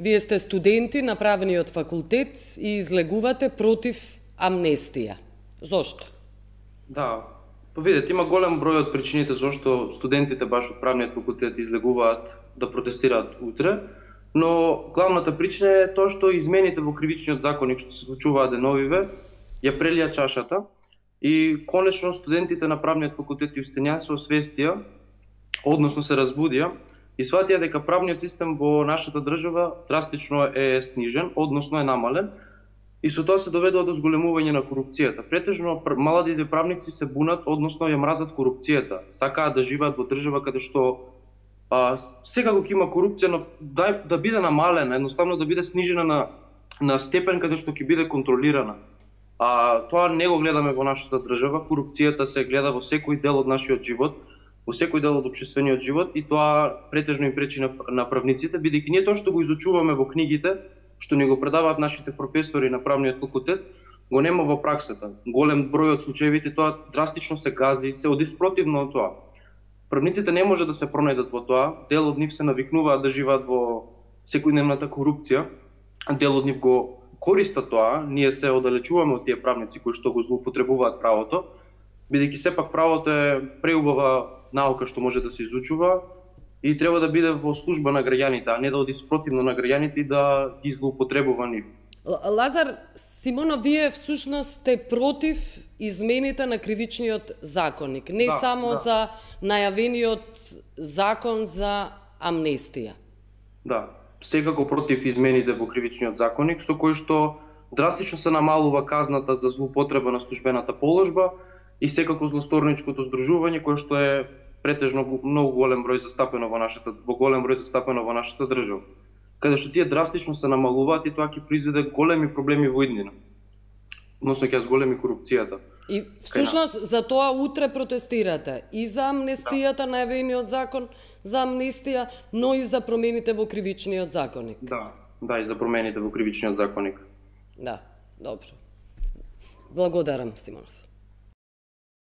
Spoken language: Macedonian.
Вие сте студенти на правниот факултет и излегувате против амнестија. Зошто? Да, видете, има голем број од причините зашто студентите баш од правниот факултет излегуваат да протестираат утре, но главната причина е тоа што измените во кривичниот законник што се случуваат деновиве ја прелија чашата и конечно студентите на правниот факултет и устенја се освестија, односно се разбудија и сватија дека правниот систем во нашата држава драстично е снижен, односно е намален, и со тоа се доведува до зголемување на корупцијата. Претежно младите правници се бунат, односно ја мразат корупцијата. Сакаат да живеат во држава каде што секако ќе има корупција, но да биде намалена, едноставно да биде снижена на степен каде што ќе биде контролирана. Тоа не го гледаме во нашата држава. Корупцијата се гледа во секој дел од нашиот живот, во секој дел од општествениот живот, и тоа претежно им пречи на правниците, бидејќи ние тоа што го изучуваме во книгите, што ни го предаваат нашите професори на правниот факултет, го нема во праксата. Голем број од случаевите тоа драстично се гази, се оди спротивно од тоа. Правниците не може да се пронајдат во тоа, дел од нив се навикнуваат да живеат во секојдневната корупција, дел од нив го користат тоа, ние се оддалечуваме од тие правници кои што го злоупотребуваат правото, бидејќи сепак правото е преубава наука што може да се изучува и треба да биде во служба на граѓаните, а не да оди спротивно на граѓаните и да ги злоупотребува нив. Лазар Симонов, вие всушност сте против измените на кривичниот законник, не само за најавениот закон за амнестија. Да, секако против измените во кривичниот законник, со кој што драстично се намалува казната за злоупотреба на службената положба и секако злосторничкото здружување, кое што е претежно многу голем број застапено во нашата држава, каде што тие драстично се намалуваат и тоа ќе произведе големи проблеми во иднина. Односно ќе зголеми корупцијата. И всушност за тоа утре протестирате и за амнестијата, најавениот закон за амнестија, но и за промените во кривичниот законник. Да, и за промените во кривичниот законник. Да, добро. Благодарам, Симонов.